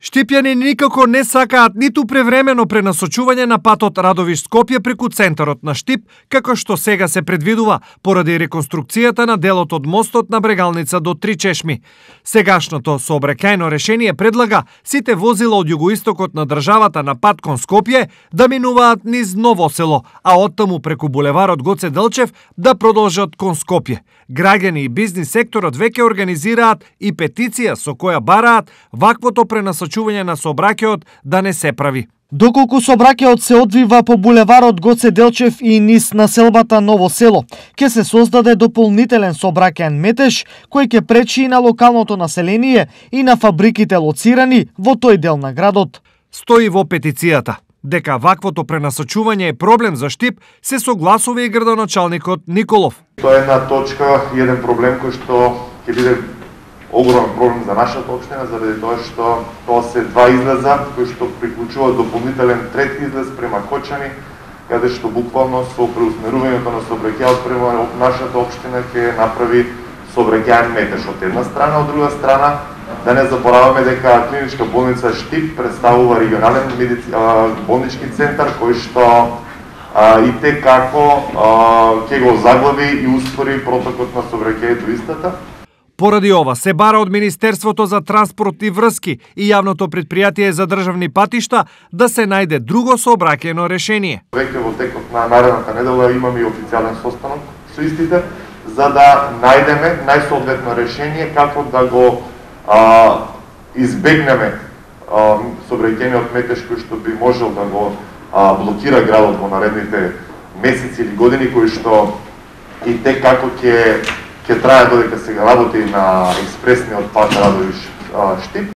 Штипјани никако не сакаат ниту превремено пренасочување на патот Радовиш-Скопје преку центарот на Штип, како што сега се предвидува, поради реконструкцијата на делот од мостот на Брегалница до Три чешми. Сегашното сообраќајно решение предлага сите возила од југоистокот на државата на пат кон Скопје да минуваат низ Ново село, а оттаму преку булеварот Гоце Делчев да продолжат кон Скопје. Граѓани и бизнис секторот веќе организираат и петиција со која бараат ваквото пренасочување на сообраќајот да не се прави. Доколку сообраќајот се одвива по булеварот Гоце Делчев и низ населбата Ново село, ќе се создаде дополнителен сообраќајен метеж кој ќе пречи и на локалното население и на фабриките лоцирани во тој дел на градот. Стои во петицијата дека ваквото пренасочување е проблем за Штип, се согласува и градоначалникот Николов. Тоа е една точка и еден проблем кој што ќе биде огромен проблем за нашата општина, заради тоа што тоа се два излеза кои што приклучуваат дополнителен трет излез према Кочани, каде што буквално со преусмерувањето на сообраќајот према нашата општина ќе направи сообраќајен метеж од една страна, од друга страна да не забораваме дека клиничка болница Штип представува регионален болнички центар кој што и те како ќе го заглави и успори протокот на сообраќај до истата. Поради ова се бара од Министерството за транспорт и врски и јавното предпријатие за државни патишта да се најде друго сообраќајно решение. Веќе во текот на наредната недела имаме и официјален состанок со истите за да најдеме најсоодветно решение како да го избегнеме сообраќајниот метеж кој што би можел да го блокира градот во наредните месеци или години, кои што и те како ќе трае додека се работи на експресниот пат Радовиш-Штип.